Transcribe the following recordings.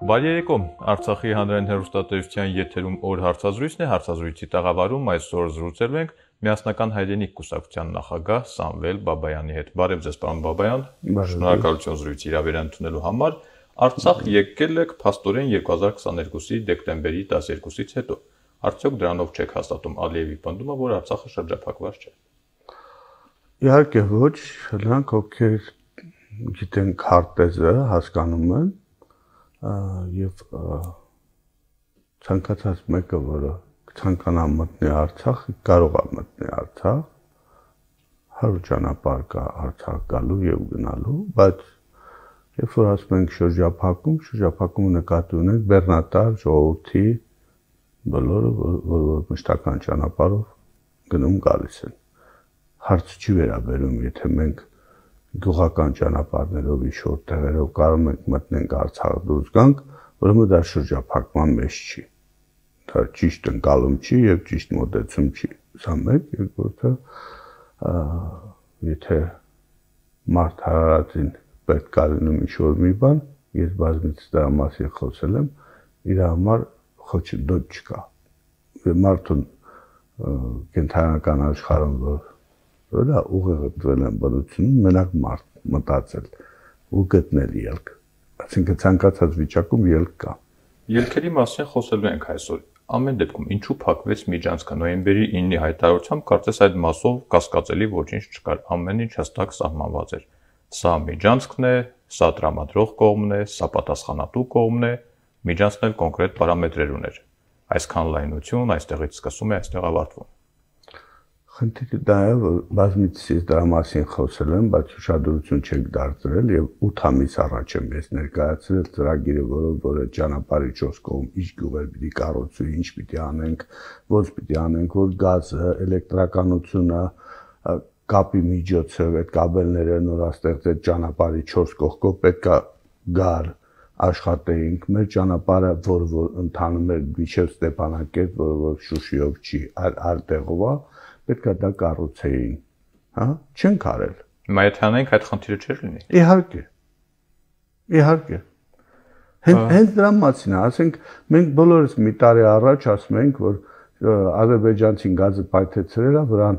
Բարերեկո, Արցախի հանրային հեռուստատեսության եթերում օր հարցազրույցն է, հարցազրույցի տաղավարում այսօր զրուցելու ենք Միասնական հայրենիք կուսակցության նախագահ Սամվել Բաբայանի հետ։ Բարև ձեզ, պարոն Բաբայան, շնորհակալություն զրույցի հրավեր ընդունելու համար։ Արցախ եկել եք փաստորեն 2022-ի դեկտեմբերի 12-ից հետո։ Արդյոք դրանով չեք հաստատում Ալիևի պնդումը, որ Արցախը շրջափակված չէ։ Իհարկե ոչ, նրանք ովքեր գիտեն քարտեզը, հասկանում են եւ ցանկացած մեկը, որը ցանկանա մտնի Արցախ, կարող է մտնի Արցախ, 100 ճանապարհ կա Արցախ գալու եւ գնալու, բայց երբ որ ասում ենք շրջափակումը նկատի ունենք բեռնատար ժողովրդի բոլորը, որ մշտական ճանապարհով գնում գալիս են։ Հարց չի վերաբերում, եթե մենք գյուղական ճանապարհներով իշոր տեղերով կարող ենք մտնենք Արցախ դուրս գանք, ուրեմն դա շրջափակման մեջ չի։ Դա ճիշտ ընկալում չի եւ ճիշտ մոտեցում չի։ Սա մեկ, երկրորդը, եթե մարդ հարարածին պետք է լինում իշոր մի բան, ես բազմիցս դրա մասին խոսել եմ, իր համար խոչընդոտ չկա։ Մարդուն կենթանական աշխարհում որ դա ուղեղը դրել են բնությունում, մենակ մարդ մտածել ու գտնել ելք։ Այսինքն ցանկացած վիճակում ելք կա։ Ելքերի մասին խոսելու ենք այսօր։ Ամեն դեպքում ինչու փակվեց միջանցքը նոյեմբերի 9-ի հայտարարությամբ, կարծես այդ մասով կասկածելի ոչինչ չկար, ամեն ինչ հստակ սահմանված էր։ Սա միջանցքն է, սա տրամադրող կողմն է, սա պատասխանատու կողմն է, միջանցքն էլ կոնկրետ պարամետրեր ուներ։ Այսքան լայնություն այստեղից սկսում է, այստեղ ավարտվում։ Խնդիրը դա է, որ բազմիցս դրա մասին խոսել եմ, բայց ուշադրություն չեք դարձրել եւ 8 ամիս առաջ եմ ես ներկայացրել ծրագիրը, որը ճանապարհի 4 կողմ ինչ գյուղեր պիտի կառուցվի, ինչ պիտի անենք, ոնց պիտի անենք, որ գազը, էլեկտրականությունը, կապի միջոցով այդ կաբելները նորաստեղծել ճանապարհի 4 կողքով պետքա գար աշխատեինք, մեր ճանապարհը, որ ընթանում էր մինչև Ստեփանակերտ, որ Շուշիով չի, այլ տեղով է, պետքա դա կառուցեին, հա, չենք արել։ Հիմա եթե անենք այդ խնդիրը չէր լինի։ Իհարկե։ Հենց դրա մասին է, ասենք մենք բոլորս մի տարի առաջ ասում ենք, որ ադրբեջանցին գազը պայթեցրել է, վրան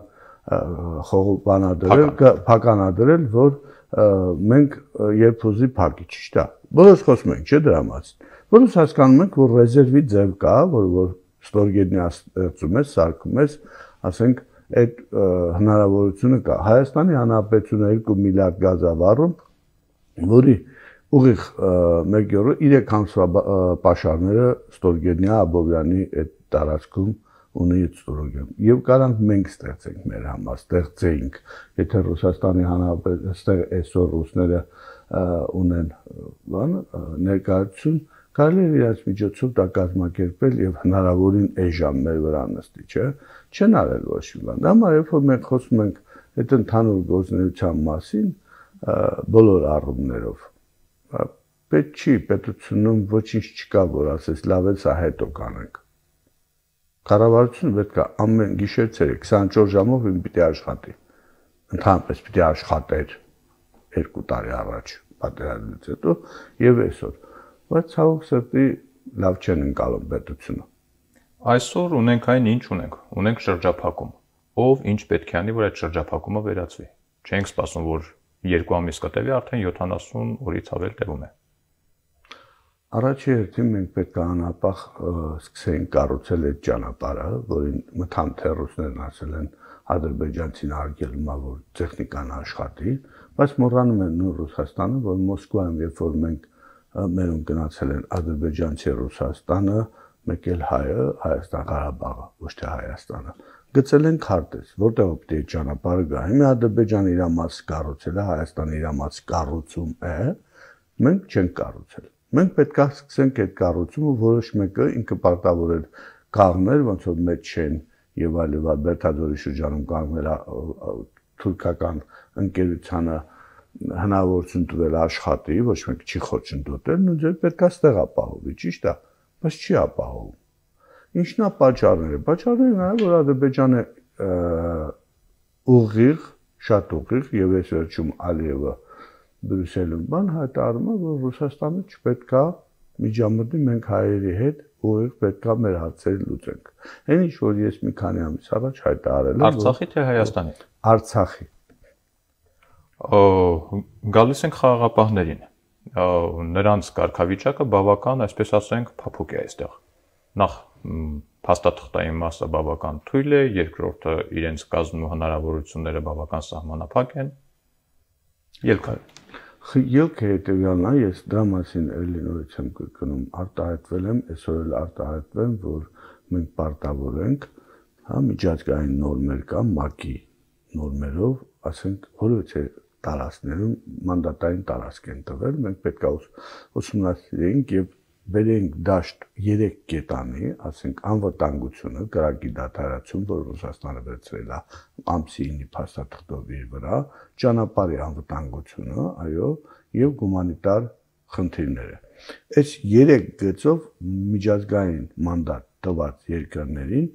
խողովանադրել, փականադրել, որ մենք երբ ուզի փակի, ճիշտ է։ Բոլորս խոսում ենք, չէ՞ դրա մասին։ Բոլորս հասկանում ենք, որ ռեզերվի ձև կա, որ ստորգետնյա ստեղծում ես, սարքում ես, ասենք այդ հնարավորությունը կա։ Հայաստանի Հանրապետությունը 2 միլիարդ գազ է վառում, որի ուղիղ 1/3 ամսվա պաշարները Ստորգետնյա Աբովյանի այդ տարածքում ունի ստորոգեն։ Եվ կարանք մենք ստեղծենք մեր համար, ստեղծեինք, եթե Ռուսաստանի Հանրապետությունը այսօր ռուսները ունեն ներկայացություն, կարելի է իրաց միջոցով դա կազմակերպել եւ հնարավորին էժան մեր վրա նստի, չէ՞։ Չեն արել ոչ մի բան։ Դա համար երբ որ մենք խոսում ենք այդ ընդհանուր գործունեության մասին, բոլոր առումներով, պետք չի պետությունում ոչինչ չկա, որ ասես լավ է, սա հետո կանենք։ Կառավարությունը պետք է ամեն գիշեր ցերեկ 24 ժամով պիտի աշխատի։ Ընդհանրապես պիտի աշխատեր 2 տարի առաջ պատերազմից հետո եւ այսօր։ Բայց ցավոք սրտի լավ չեն ընկալում պետությունը։ Այսօր ունենք այն ինչ ունենք, ունենք շրջափակում։ Ով ինչ պետք է անի, որ այդ շրջափակումը վերացվի։ Չենք սպասում, որ 2 ամիս կտևի, արդեն 70 օրից ավել տևում է։ Առաջի հերթին մենք պետք է անապահ սկսենք կառուցել այդ ճանապարհը, որին մթանթերուսներն ասել են ադրբեջանցին արգելումա, որ տեխնիկան աշխատի, բայց մոռանում են նույն Ռուսաստանը, որ Մոսկվայում երբ որ մենք մերում գնացել են ադրբեջանցի Ռուսաստանը, մեկ էլ հայը, Հայաստան Ղարաբաղը, ոչ թե Հայաստանը, գծել են քարտեզ, որտեղ պետք է ճանապարհը գա։ Հիմա Ադրբեջանը իր մասը կառուցել է, Հայաստանը իր մասը կառուցում է, մենք չենք կառուցել։ Մենք պետք է սկսենք այդ կառուցումը, որոշ մեկը ինքը պարտավոր էր կաղներ, ոնց որ մեջ չեն եւ այլն, Բերթաձորի շրջանում կանգնել թուրքական ընկերությանը հնարավորություն տվել աշխատի, ոչ մեկ չի խոչընդոտել, նույն ձև պետք է ստեղ ապահովի, ճիշտ է, բայց չի ապահովում։ Ինչն է պատճառները։ Պատճառները նա որ Ադրբեջանը ուղիղ, շատ ուղիղ եւ այս վերջում Ալիևը Բրյուսելում բան հայտարարում է, որ Ռուսաստանը չպետք է միջամտի մենք հայերի հետ ուղիղ պետք է մեր հարցերը լուծենք։ Այն ինչ որ ես մի քանի ամիս առաջ հայտարարել եմ Արցախի թե Հայաստանի։ Արցախի։ Գալիս ենք խաղաղապահներին։ Նրանց կարգավիճակը բավական, այսպես ասենք, փափուկ է այստեղ։ Նախ փաստաթղթային մասը բավական թույլ է, երկրորդը իրենց կազմելու հնարավորությունները բավական սահմանափակ են։ Ելքը հետևյալն է, ես դրա մասին էլի նորից եմ կրկնում, արտահայտվել եմ, այսօր էլ արտահայտվեմ, որ մենք պարտավոր ենք, հա, միջազգային նորմեր կա, ՄԱԿ-ի նորմերով, ասենք, որովհետեւ տարածքներում մանդատային տարածք են տվել, մենք պետք է ուսումնասիրենք եւ բերենք դաշտ 3 կետանի, ասենք անվտանգությունը, կրակի դադարեցում, որ Ռուսաստանը վերցրել է ամսի 9-ի փաստաթղթով իր վրա, ճանապարհի անվտանգությունը, այո, եւ հումանիտար խնդիրները։ Այս 3 գծով միջազգային մանդատ տված երկրներին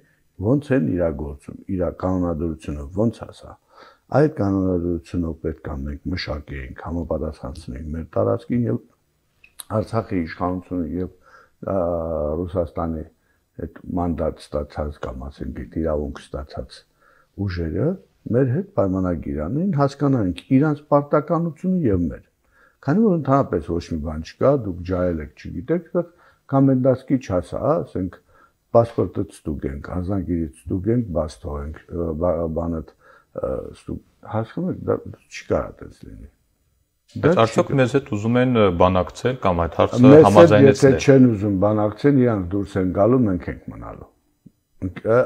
ոնց են իրագործում, իր կանոնադրությունը ոնց է սա։ Այդ կանոնադրությունով պետք է մենք մշակենք, համապատասխանենք մեր տարածքին եւ Արցախի իշխանությունը եւ Ռուսաստանի այդ մանդատ ստացած կամ ասենք իրավունք ստացած ուժերը մեր հետ պայմանագիր անեն, հասկանանք իրանց պարտականությունը եւ մեր։ Քանի որ ընդհանրապես ոչ մի բան չկա, դուք ջայել եք, չգիտեք, կոմենդանտի չասա, ասենք паспортը ստուգենք, ազանգիրից ստուգենք, բաց թողենք, բանը հասկանում եք, դա չի կարող այդպես լինի։ Բայց արդյոք մեզ հետ ուզում են բանակցել կամ այդ հարցը համաձայնեցնել։ Եթե չեն ուզում բանակցել, իրանք դուրս են գալու, մենք ենք մնալու։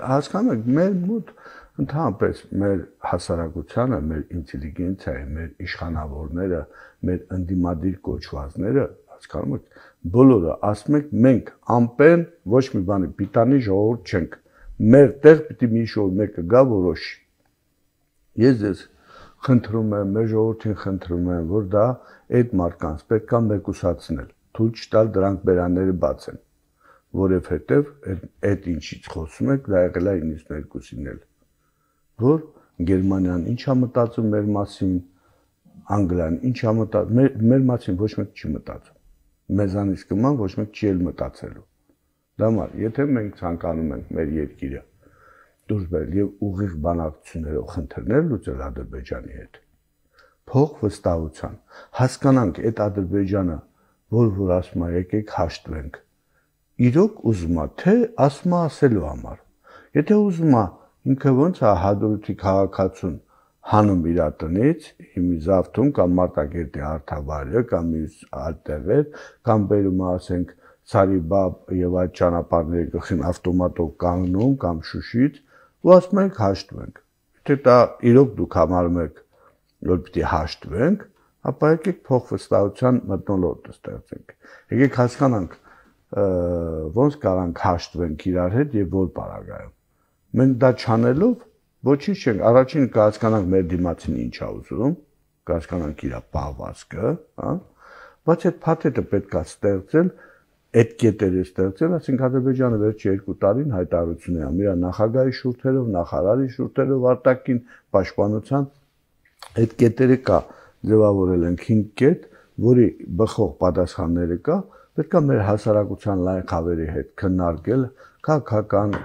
Հասկանում եք, մեր մոտ ընդհանրապես մեր հասարակությանը, մեր ինտելիգենցիայի, մեր իշխանավորները, մեր ընդդիմադիր կոչվածները, հասկանում եք, բոլորը ասում եք մենք ամպեն ոչ մի բանի պիտանի ժողովուրդ չենք։ Մեր տեղ պիտի մի շոյ մեկը գա որոշի։ Ես ձեզ խնդրում եմ, մեր ժողովրդին խնդրում եմ, որ դա այդ մարդկանց պետք է մեկուսացնել, թույլ չտալ դրանք բերանները բացեն, որովհետև այդ ինչից խոսում եք, դա եղել է 92-ին էլ, որ Գերմանիան ինչ է մտածում մեր մասին, Անգլիան ինչ է մտածում, մեր մասին ոչ մեկ չի մտածում, մեզանից կման ոչ մեկ չի էլ մտածելու։ Դա մար, եթե մենք ցանկանում ենք մեր երկիրը դուրս բերել եւ ուղիղ բանակցություններով խնդիրներ լուծել Ադրբեջանի հետ։ Փող վստահության հասկանանք այդ Ադրբեջանը, որ ասում է եկեք հաշտվենք։ Իրոք ուզում է թե ասում է ասելու համար։ Եթե ուզում է ինքը ոնց է հադրութի քաղաքացուն հանում իր տնից, հիմի Զավթում կամ Մարտակերտի Արթավարը կամ մյուս այդտեղեր, կամ բերում է ասենք Ցարիբաբ եւ այդ ճանապարհների գլխին ավտոմատով կանգնում կամ Շուշից ու ասում եք հաշտվենք։ Եթե դա իրոք դուք համարում եք, որ պիտի հաշտվենք, ապա եկեք փոխվստահության մթնոլորտ ստեղծենք։ Եկեք հասկանանք, ոնց կարանք հաշտվենք իրար հետ եւ որ պարագայում։ Մենք դա չանելով ոչինչ չենք, առաջին կհասկանանք մեր դիմացին ինչ է ուզում, կհասկանանք իր պահվածքը, հա, բայց այդ փաթեթը պետք է ստեղծել, այդ կետերը ստեղծել, ասենք Ադրբեջանը վերջի 2 տարին հայտարարություն է անում իր նախագահի շուրթերով, նախարարի շուրթերով, արտաքին պաշտպանության այդ կետերը կա, ձևավորել ենք 5 կետ, որի բխող պատասխանները կա, պետք է մեր հասարակության լայն խավերի հետ քննարկել, քաղաքական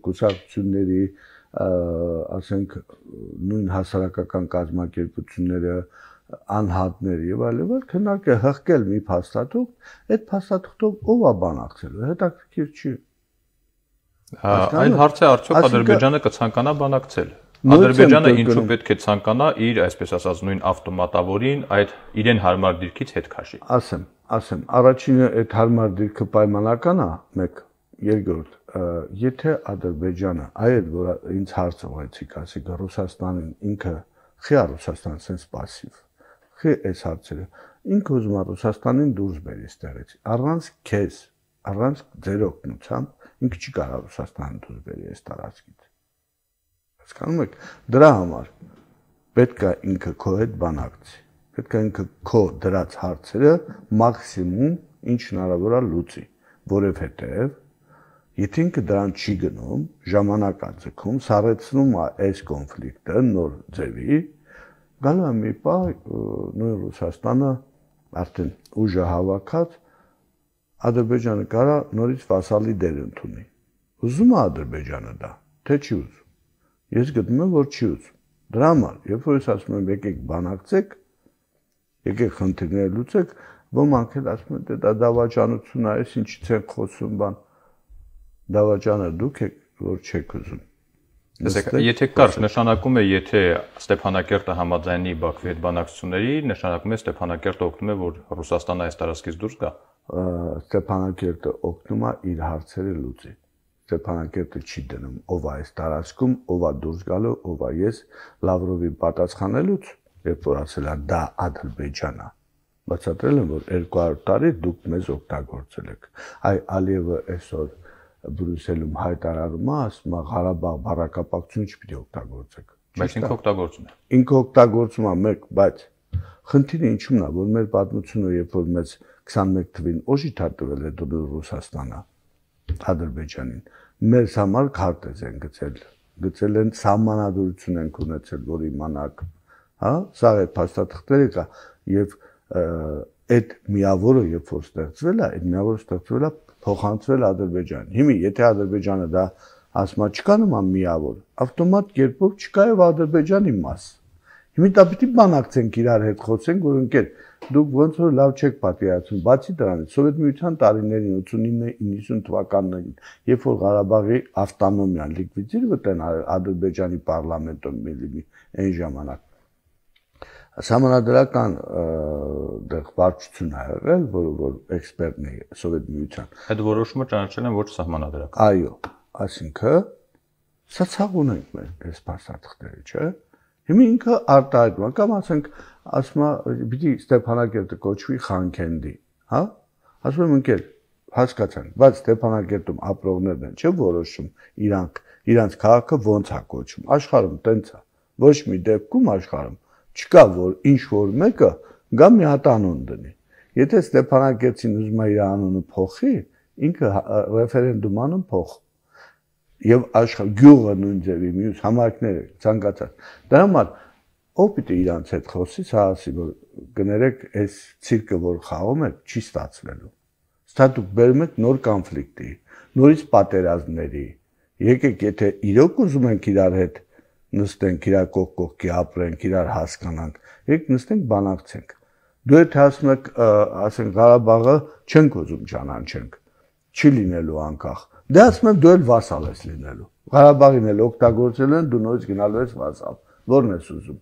կուսակցությունների, ասենք նույն հասարակական կազմակերպությունները, անհատներ եւ այլն, քննարկել, հղկել մի փաստաթուղթ, այդ փաստաթուղթով ով է բանակցելու, հետաքրքիր չի։ Այլ հարց է արդյոք Ադրբեջանը կցանկանա բանակցել։ Ադրբեջանը ինչու պետք է ցանկանա իր, այսպես ասած, նույն ավտոմատավորին այդ իրեն հարմար դիրքից հետ քաշի։ Ասեմ, առաջինը այդ հարմար դիրքը պայմանական է, մեկ, երկրորդ, եթե Ադրբեջանը, այդ որ ինձ հարց ուղեցիք, ասեք Ռուսաստանին ինքը խի է Ռուսաստանը sense passive։ Խի այս հարցերը ինքը ուզում է Ռուսաստանին դուրս բերի այստեղից։ Առանց քեզ, առանց ձեր օգնությամբ ինքը չի կարող Ռուսաստանին դուրս բերի այս տարածքից։ Հասկանում եք, դրա համար պետք է ինքը քո հետ բանակցի։ Պետք է ինքը քո դրած հարցերը մաքսիմում ինչ հնարավոր է լուծի, որովհետև եթե ինքը դրան չի գնում, ժամանակ է ձգում, սառեցնում է այս կոնֆլիկտը նոր ձևի, գալու է մի պահ նույն Ռուսաստանը արդեն ուժը հավաքած Ադրբեջանը կարա նորից վասալի դեր ընդունի։ Ուզում է Ադրբեջանը դա, թե չի ուզում։ Ես գտնում եմ, որ չի ուզում։ Դրա համար, երբ որ ես ասում եմ եկեք բանակցեք, եկեք խնդիրները լուծեք, ոմանք էլ ասում են, դա դավաճանություն է, ես ինչից են խոսում բան։ Դավաճանը դուք եք, որ չեք ուզում։ Եթե կար, նշանակում է, եթե Ստեփանակերտը համաձայնի Բաքվի հետ բանակցությունների, նշանակում է Ստեփանակերտը օգնում է, որ Ռուսաստանը այս տարածքից դուրս գա։ Ստեփանակերտը օգնում է իր հարցերը լուծի։ Ստեփանակերտը չի դնում ով է այս տարածքում, ով է դուրս գալու, ով է ես Լավրովի պատասխանելուց, երբ որ ասել է դա Ադրբեջանն է, բացատրել եմ, որ 200 տարի դուք մեզ օգտագործել եք։ Այ Ալիևը այսօր Բրյուսելում հայտարարում է, ասում է Ղարաբաղ բառակապակցություն չպիտի օգտագործեք։ Բայց ինքը օգտագործում է։ Ինքը օգտագործում է մեկ, բայց խնդիրը ինչու՞մն է, որ մեր պատմությունը, երբ որ մեզ 21 թվին օժիտ է տվել է Ռուսաստանը, Ադրբեջանին, մեզ համար քարտեզ են գծել են սահմանադրություն են ունեցել, որ իմանաք, հա, սա է փաստաթղթերը կա եւ այդ միավորը, երբ որ ստեղծվել է, այդ միավորը ստեղծվել է փոխանցվել Ադրբեջանին։ Հիմա եթե Ադրբեջանը դա ասում է չկա նման միավոր, ավտոմատ կերպով չկա եւ Ադրբեջանի մաս։ Հիմա դա պիտի բանակցենք իրար հետ խոսենք, որ ընկեր դուք ոնց որ լավ չեք պատկերացնում, բացի դրանից Սովետ Միության տարիներին 89-90 թվականներին, երբ որ Ղարաբաղի ավտոնոմիան լիկվիդировать են Ադրբեջանի պարլամենտում այն ժամանակ Սահմանադրական դեղ վարչություն ա եղել, որ էքսպերտն է Սովետ Միության։ Այդ որոշումը ճանաչել են ոչ սահմանադրական։ Այո, այսինքն սա ցավ ունենք մեր այս փաստաթղթերը, չէ՞։ Հիմա ինքը արտահայտում է, կամ ասենք, ասում է, պիտի Ստեփանակերտը կոչվի Խանքենդի, հա։ Ասում եմ ընկեր, հասկացանք, բայց Ստեփանակերտում ապրողներն են, չէ՞ որոշում իրանց քաղաքը ոնց է կոչվում։ Աշխարհում տենց է։ Ոչ մի դեպքում աշխարհում չկա որ ինչ որ մեկը գա մի հատ անուն դնի։ Եթե Ստեփանակերտին ուզում է իր անունը փոխի, ինքը ռեֆերենդում անում փոխ։ Եվ աշխարհ գյուղը նույն ձևի մյուս համայնքները ցանկացած։ Դրա համար ով պիտի իրանց հետ խոսի, սա ասի որ գներեք այս ցիրկը որ խաղում եք, չի ստացվելու։ Ստա դուք բերում եք նոր կոնֆլիկտի, նորից պատերազմների։ Եկեք, եթե իրոք ուզում ենք իրար հետ նստենք, իրար կողքի ապրենք, իրար հասկանանք, եք նստենք բանակցենք։ Դու եթե ասում եք, ասենք Ղարաբաղը չենք ուզում ճանաչենք, չի լինելու անկախ։ Դե ասում եմ դու էլ վասալ ես լինելու։ Ղարաբաղին էլ օգտագործել են, դու նորից գնալու ես վասալ։ Որն ես ուզում։